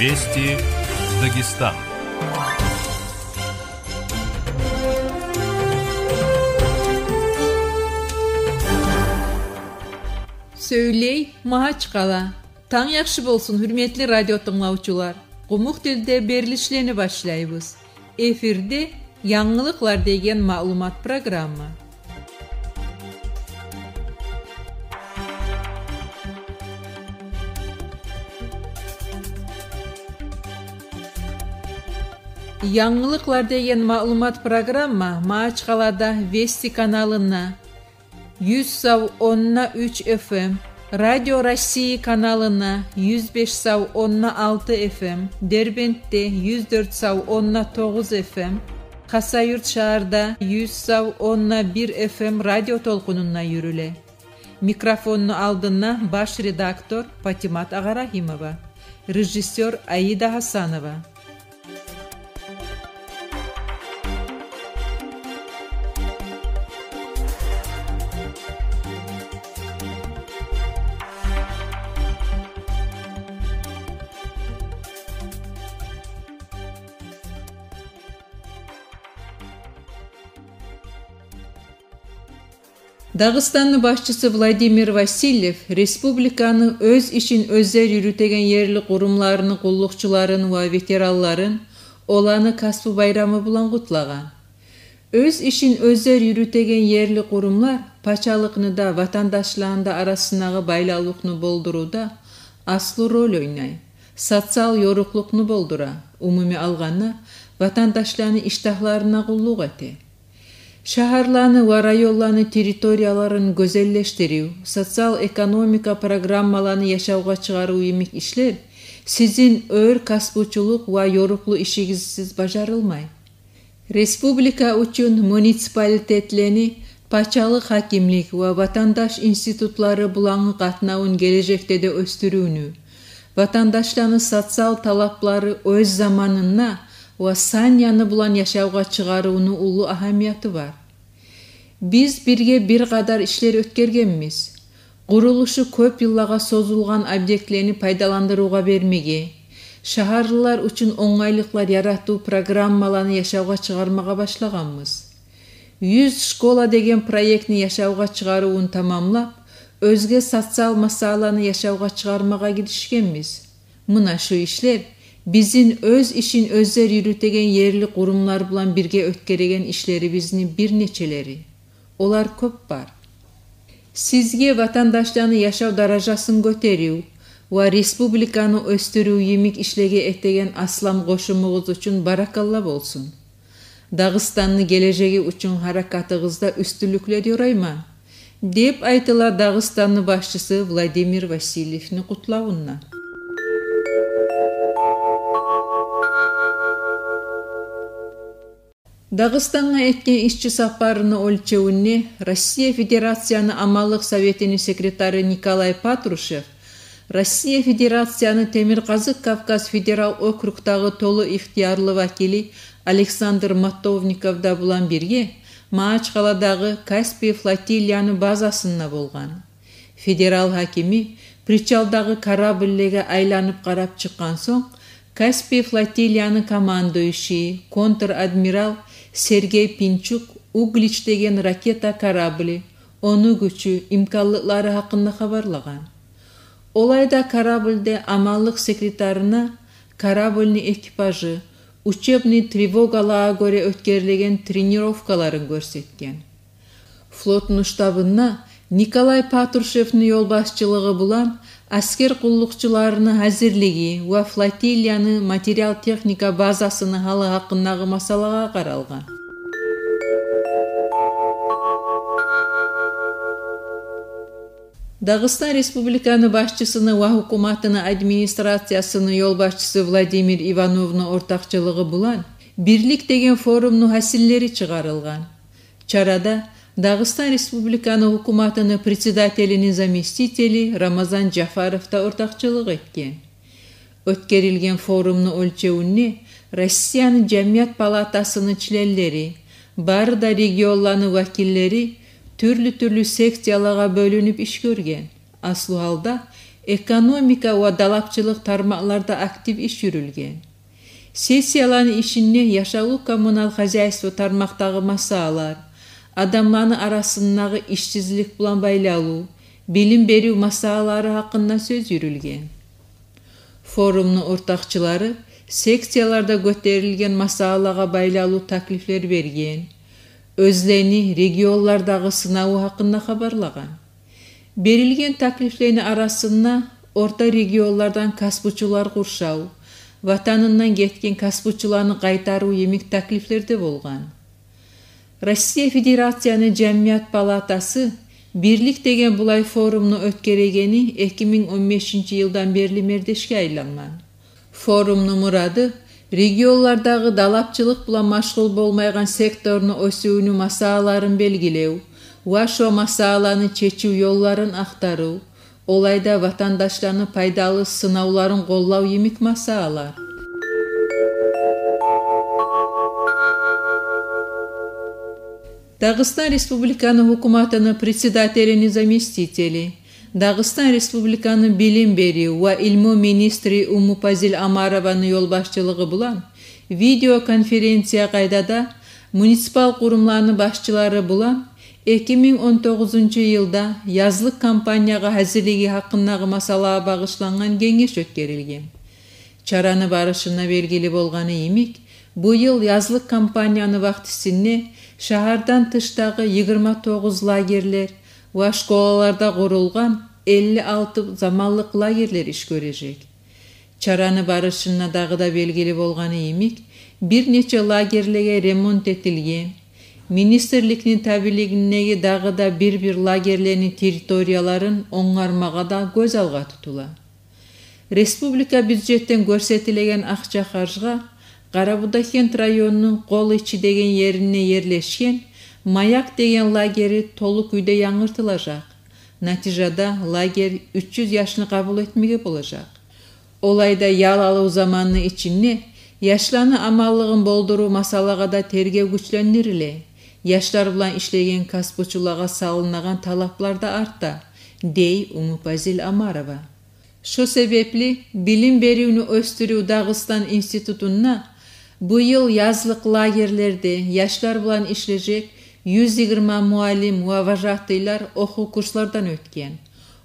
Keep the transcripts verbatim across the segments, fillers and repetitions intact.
Вести Дагестан. Сёйлей Магьачкъала. Танг яхшы болсун, гьюрметли радио тынглавчулар. Къумукъ тилде берилишлени башлайбыз. Эфирде «Янгылыкълар» деген маълумат программа. «Янгылыкълар» деген маълумат программа Магьачкъалада Вести каналына, юз сав онна уьч Ф М, Радио России каналына юз беш сав онна алты Ф М, Дербентде юз дёрт сав онна тогъуз Ф М, Хасавюрт шагьарда юз сав онна бир Ф М радио толкъунунда юрюле. Микрофонну алдында баш редактор Патимат Агъарагьимова, режиссёр Аида Гьасанова. Дагъыстанны башчысы Владимир Васильев республиканы оьз ишин оьзлер юрютеген ерли къурумларыны къуллукъчуларын ва ветеранларын оланы касбу байрамы булан къутлагъан. Оьз ишин оьзлер юрютеген ерли къурумлар пачалыкъны да, ватандашланы да арасындагъы байлавлукъну болдурувда аслу роль ойнай, социал ёрукълукъну болдура, умумий алгъанда, ватандашланы иштагьларына къуллукъ эте. Шагьарланы ва районланы территорияларын гёзеллешдирив, социал-экономика программаланы яшавгъа чыгъарыв йимик ишлер сизин оьр касбучулукъ ва ёрукълу ишигизсиз бажарылмай. Республика учун муниципалитетлени пачалыкъ гьакимлик ва ватандаш институтлары булангъы къатнавун гележекде де оьсдюрювню, ватандашланы социал талаплары оьз заманында ва сан-яны булан яшавгъа чыгъарывну уллу агьамияты бар. Биз бирге бир къадар ишлер оьтгергенбиз. Къурулушу кёп йыллагъа созулгъан объектлени пайдаландырывгъа бермеге, шагьарлылар учун онгайлыкълар яратыв программаланы яшавгъа чыгъармагъа башлагъанбыз. Юз школа деген проектни яшавгъа чыгъарывун тамамлап, оьзге социал масъаланы яшавгъа чыгъармагъа гиришгенбиз. Муна шу ишлер бизин оьз ишин оьзлер юрютеген ерли къурумлар булан бирге оьтгереген ишлерибизни бир нечелери. Олар кёп бар. Сизге ватандашланы яшав даражасын гётерив ва республиканы оьсдюрюв йимик ишлеге этеген аслам къошумугъуз учун баракалла болсун. Дагъыстанны гележеги учун гьаракатыгъызда уьстюнлюклер ёрайман, деп айтыла Дагъыстанны башчысы Владимир Васильевни къутлавунда. Дагъыстангъа этген ишчи сапарыны оьлчевюнде Россия Федерацияны Аманлыкъ советини секретары Николай Патрушев, Россия Федерацияны Темиркъазыкъ Кавказ федерал округдагъы толу ихтиярлы вакили Александр Матовников да булан бирге Магьачкъаладагъы Каспий флотилияны базасында болгъан. Федерал гьакими причалдагъы корабльлеге айланып къарап чыкъгъан сонг, Каспий флотилияны командующийи, контр-адмирал Сергей Пинчук Углич деген ракета корабли, ону гючю, имканлыкълары гьакъында хабарлагъан. Олай да корабльде Аманлыкъ секретарына корабльни экипажы учебный тревогалагъа гёре оьтгерилеген тренировкаларын гёрсетген. Флотну штабында Николай Патрушевни ёлбашчылыгъы булан аскер къуллукъчуларыны гьазирлиги ва флотилияны материал-техника базасыны гьалы гьакъындагъы масъалагъа къаралгъан. Дагъыстан Республиканы башчысыны ва гьукуматыны администрациясыны ёлбашчысы Владимир Ивановну ортакъчылыгъы булан «Бирлик» деген форумну гьасиллери чыгъарылгъан. Чарада Дагъыстан Республиканы гьукуматыны председателини заместители Рамазан Жафаров да ортакъчылыкъ этген. Оьтгерилген форумну оьлчевюнде Россияны Жамият палатасыны членлери, бары да регионланы вакиллери тюрлю-тюрлю секциялагъа бёлюнюп иш гёрген. Аслу гьалда экономика ва далапчылыкъ тармакъларда актив иш юрюлген. Сессияланы ишинде яшавлу-коммунал хозяйство тармакъдагъы масъалалар, адамланы арасындагъы ишсизлик булан байлавлу, билим берив масъалалары гьакъында сёз юрюлген. Форумну ортакъчылары секцияларда гётерилген масъалалагъа байлавлу таклифлер берген, оьзлени регионлардагъы сынаву гьакъында хабарлагъан. Берилген таклифлени арасында орта регионлардан касбучулар къуршав, ватанындан гетген касбучуланы къайтарыв йимик таклифлер де болгъан. Россия Федерацияны Жамият палатасы «Бирлик» деген булай форумну оьтгерегени эки минг он бешинчи йылдан берли мердешге айлангъан. Форумну мурады регионлардагъы далапчылыкъ булан машгъул болмайгъан секторну оьсювню масъалаларын белгилев ва шо масъалаланы чечив ёлларын ахтарыв, олайда ватандашланы пайдалы сынавларын къоллав йимик масъалалар. Дагъыстан Республиканы гьукуматыны председателини заместители, Дагъыстан Республиканы билим берив ва илму министри Умупазил Омарованы ёлбашчылыгъы булан видеоконференция къайдада муниципал къурумланы башчылары булан эки минг он тогъузунчу йылда язлыкъ кампаниягъа гьазирлиги гьакъындагъы масъалагъа багъышлангъан генгеш оьтгерилген. Чараны барышында белгили болгъаны йимик, бу йыл язлыкъ кампанияны вакътисинде шагьардан тышдагъы йигирма тогъуз лагерьлер ва школаларда къурулгъан элли алты заманлыкъ лагерьлер иш гёрежек. Чараны барышында дагъы да белгили болгъаны йимик, бир нече лагерьлеге ремонт этилген. Министрликни табийлигиндеги дагъы да бир-бир лагерьлени территорияларын онгармагъа да гёз алгъа тутула. Республика бюджетден гёрсетилеген акъча-харжгъа Къарабудагъгент районну Къол ичи деген еринде ерлешген «Маяк» деген лагери толу кюйде янгыртылажакъ. Натижада лагерь уьч юз яшны къабул этмеге болажакъ. Олайда ял алыв заманны ичинде яшланы аманлыгъын болдурув масъалагъа да тергев гючлендириле, яшлар булан ишлеген касбучулагъа салынагъан талаплар да арта, дей Умупазил Омарова. Шо себепли Билим беривню оьсдюрюв Дагъыстан институтунда бу йыл язлыкъ лагерьлерде яшлар булан ишлежек юз йигирма муаллим ва вожатыйлар охув курслардан оьтген.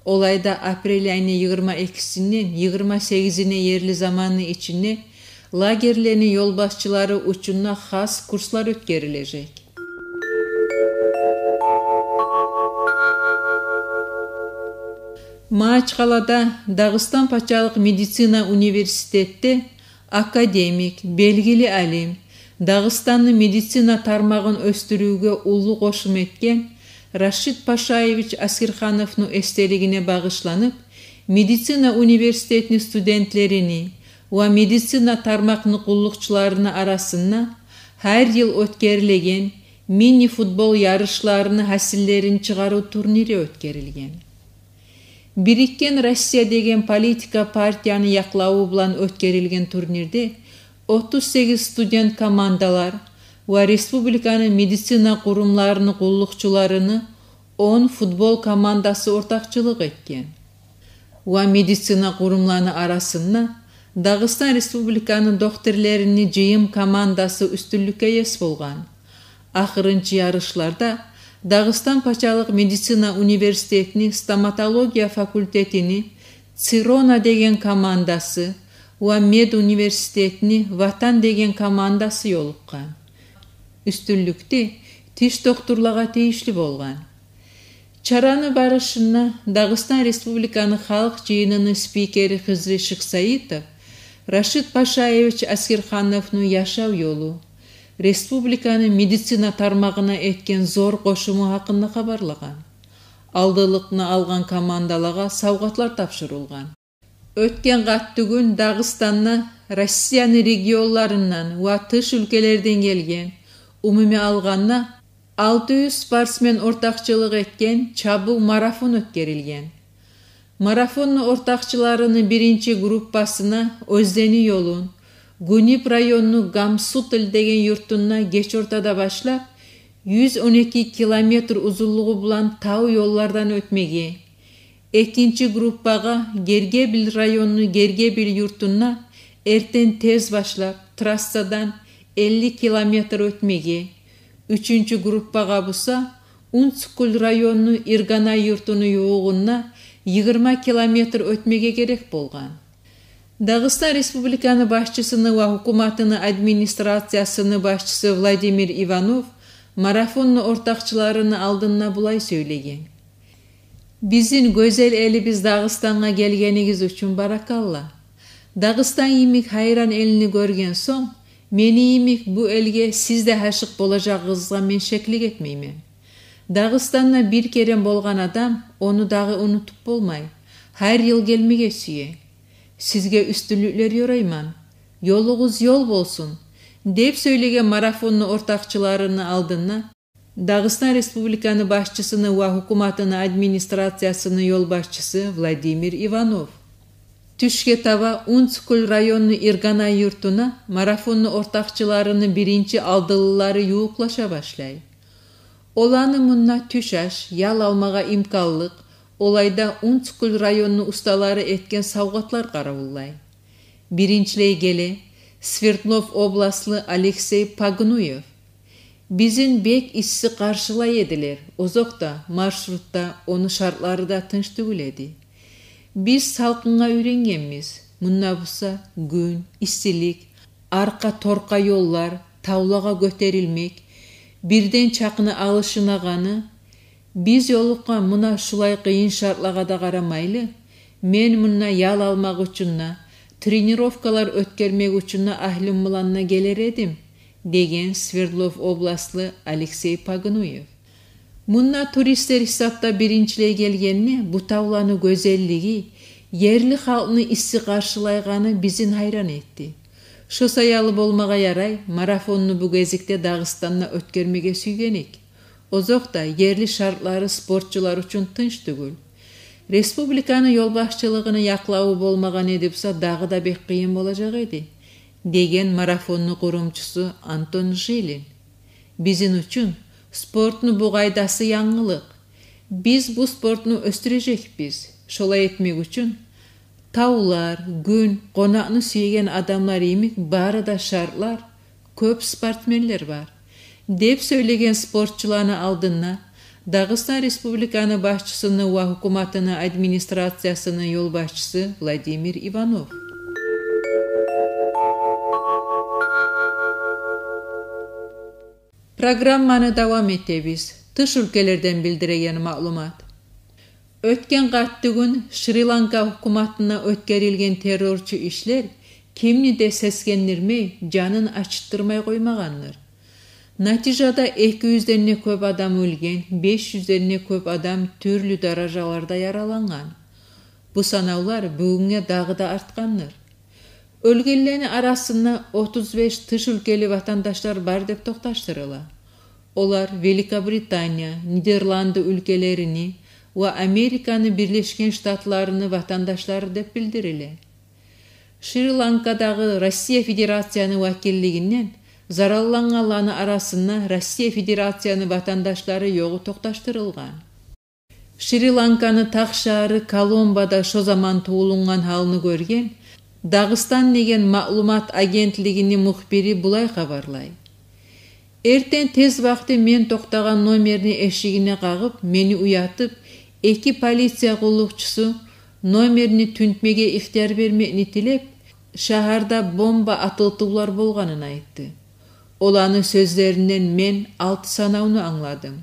Олайда апрель айны йигирма экисинден йигирма сегизине ерли заманны ичинде лагерьлени ёлбашчылары учун да хас курслар оьтгерилежек. Магьачкъалада Дагъыстан пачалыкъ медицина университетде академик, белгили алим, Дагъыстанны медицина тармагъын оьсдюрювге уллу къошум этген Рашид Пашаевич Аскерхановну эсделигине багъышланып, медицина университетни студентлерини ва медицина тармакъны къуллукъчуларыны арасында гьар йыл оьтгерилеген мини-футбол ярышларыны гьасиллерин чыгъарыв турнири оьтгерилген. «Бириккен Россия» деген политика партияны якълаву булан оьтгерилген турнирде отуз сегиз студент командалар ва республиканы медицина къурумларыны къуллукъчуларыны он футбол командасы ортакъчылыкъ этген. Ва медицина къурумланы арасында Дагъыстан Республиканы докторларыны «Жыйым» командасы уьстюнлюкге ес болгъан. Ахырынчы ярышларда Дагъыстан пачалыкъ медицина университетини стоматология факультетини «Цирона» деген командасы ва медуниверситетини «Ватан» деген командасы ёлукъгъан. Уьстюнлюк де тиш докторлагъа тийишли болгъан. Чараны барышында Дагъыстан Республиканы Халкъ Жыйыныны спикери Хизри Шихсаитов Рашид Пашаевич Аскерхановну яшав ёлу, республиканы медицина тармагъына этген зор къошуму гьакъында хабарлагъан. Алдынлыкъны алгъан командалагъа савгъатлар тапшурулгъан. Оьтген къаттыгюн Дагъыстанда Россияны регионларындан ва тыш уьлкелерден гелген, умуми алгъанда, алты юз спортсмен ортакъчылыкъ этген чабыв марафон оьтгерилген. Марафонну ортакъчыларыны биринчи группасына оьзлени ёлун Гуниб районну Гамсутл деген юртунда геч ортада башлап, юз он эки километр узунлугъу булан тав ёллардан оьтмеге, Экинчи группагъа Гергебил районну Гергебил юртунда эртен тез башлап, трассадан элли километр оьтмеге, уьчюнчю группагъа буса Унцукул районну Ирганай юртуну ювугъунда йигирма километр оьтмеге герек болгъан. Дагъыстан Республиканы башчысыны ва гьукуматыны администрациясыны башчысы Владимир Иванов марафонну ортакъчыларыны алдында булай сёйлеген: «Бизин гёзел элибиз Дагъыстангъа гелгенигиз учун баракалла. Дагъыстан йимик гьайран элни гёрген сонг, мени йимик бу элге сиз де гьашыкъ болажагъыгъызгъа мен шеклик этмеймен. Дагъыстанда бир керен болгъан адам ону дагъы унутуп болмай, гьар йыл гелмеге сюе. Сизге уьстюнлюклер ёрайман. Ёлугъуз ёл болсун», — деп сёйлеген марафонну ортакъчыларыны алдында Дагъыстан Республиканы башчысыны ва гьукуматыны администрациясыны ёлбашчысы Владимир Иванов. Тюшге таба Унцукул районну Ирганай юртуна марафонну ортакъчыларыны биринчи алдылылары ювукълаша башлай. Оланы мунда тюш аш, ял алмагъа имканлыкъ, олайда Унцукул районну усталары этген савгъатлар къаравуллай. Биринчилей геле Свердлов областлы Алексей Погнуев. «Бизин бек исси къаршылай эдилер, озокъда, маршрутда ону шартлары да тынч тюгюл эди. Биз салкъынгъа уьйренгенбиз. Мунда буса гюн, иссилик, аркъа-торкъа ёллар, тавлагъа гётерилмек, бирден чакъны алышынагъаны. Биз ёлукъгъан муна шулай къыйын шартлагъа да къарамайлы, мен мунда ял алмакъ учун да, тренировкалар оьтгермек учун да агьлюм булан да гелер эдим», — деген Свердлов областлы Алексей Погнуев. Мунда туристлер гьисапда биринчилей гелгенде, бу тавланы гёзеллиги, ерли халкъны исси къаршылайгъаны бизин гьайран этди. «Шо саялы болмагъа ярай, марафонну бу гезикде Дагъыстанда оьтгермеге сюйген эдик. Озокъда, ерли шартлары спортчулар учун тынч тюгюл. Республиканы ёлбашчылыгъыны якълаву болмагъан эди буса, дагъы да бек къыйын болажакъ эди», — деген марафонну къурумчусу Антон Жилин. «Бизин учун спортну бу къайдасы янгылыкъ. Биз бу спортну оьсдюрежекбиз. Шолай этмек учун тавлар, гюн, къонакъны сюеген адамлар йимик бары да шартлар, кёп спортсменлер бар», — деп сёйлеген спортчуланы алдында Дагъыстан Республиканы башчысыны ва гьукуматыны администрациясыны ёлбашчысы Владимир Иванов. Программаны давам этебиз. Тыш уьлкелерден билдиреген маълумат. Оьтген къаттыгюн Шри-Ланка гьукуматына оьтгерилген террорчу ишлер кимни де сесгендирмей, жанын ачытдырмай къоймагъандыр. Натижада эки юзден де кёп адам оьлген, беш юзден де кёп адам тюрлю даражаларда яралангъан. Бу санавлар бугюнге дагъы да артгъандыр. Оьлгенлени арасында отуз беш тыш уьлкели ватандашлар бар деп токъташдырыла. Олар Великобритания, Нидерланды уьлкелерини ва Американы Бирлешген Штатларыны ватандашлары деп билдириле. Шри-Ланкадагъы Россия Федерацияны вакиллигинден зараллангъанланы арасында Россия Федерацияны ватандашлары ёгъу токъташдырылгъан. Шри-Ланканы тахшагьары Коломбода шо заман тувулунгъан гьалны гёрген «Дагъыстан» деген маълумат агентлигини мухбири булай хабарлай: «Эртен тез вакъти мен токътагъан номерни эшигине къагъып, мени уятып, эки полиция къуллукъчусу номерни тюнтмеге ихтияр бермекни тилеп, шагьарда бомба атылтывлар болгъанын айтды. Оланы сёзлеринден мен алты санавну англадым.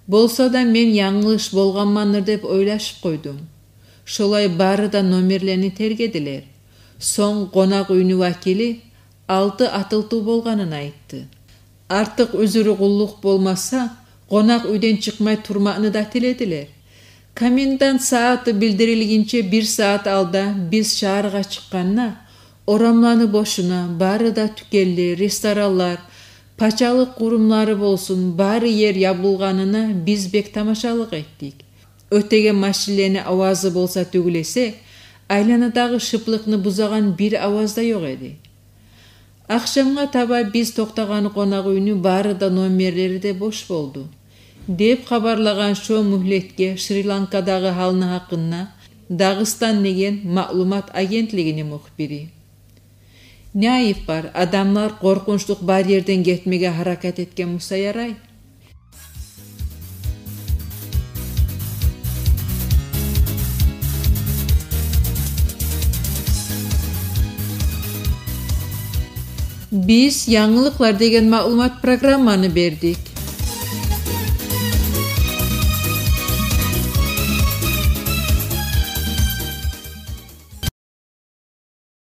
Болса да, мен янгылыш болгъанмандыр деп ойлашып къойдум. Шолай бары да номерлени тергедилер. Сонг къонакъ уьйню вакили алты атылтыв болгъанын айтды. Артыкъ уьзюрю къуллукъ болмаса, къонакъ уьйден чыкъмай турмакъны да тиледилер. Комендант сагьаты билдирилгинче бир сагьат алда биз шагьаргъа чыкъгъанда, орамланы бошуна, бары да тюкенлер, ресторанлар, пачалыкъ къурумлары болсун, бары ер ябылгъанына биз бек тамашалыкъ этдик. Оьтеген машинлени авазы болса тюгюл эсе, айланадагъы шыплыкъны бузагъан бир аваз да ёкъ эди. Ахшамгъа таба биз токътагъан къонакъ уьйню бары да номерлери де бош болду. деп хабарлагъан шо мюгьлетге Шри-Ланкадагъы гьалны гьакъында Дагъыстан деген маълумат агентлигини мухбири. Не айып бар, адамлар къоркъунчлукъ бар ерден гетмеге гьаракат этген буса ярай. Биз янгылыкълар деген маълумат программаны бердик.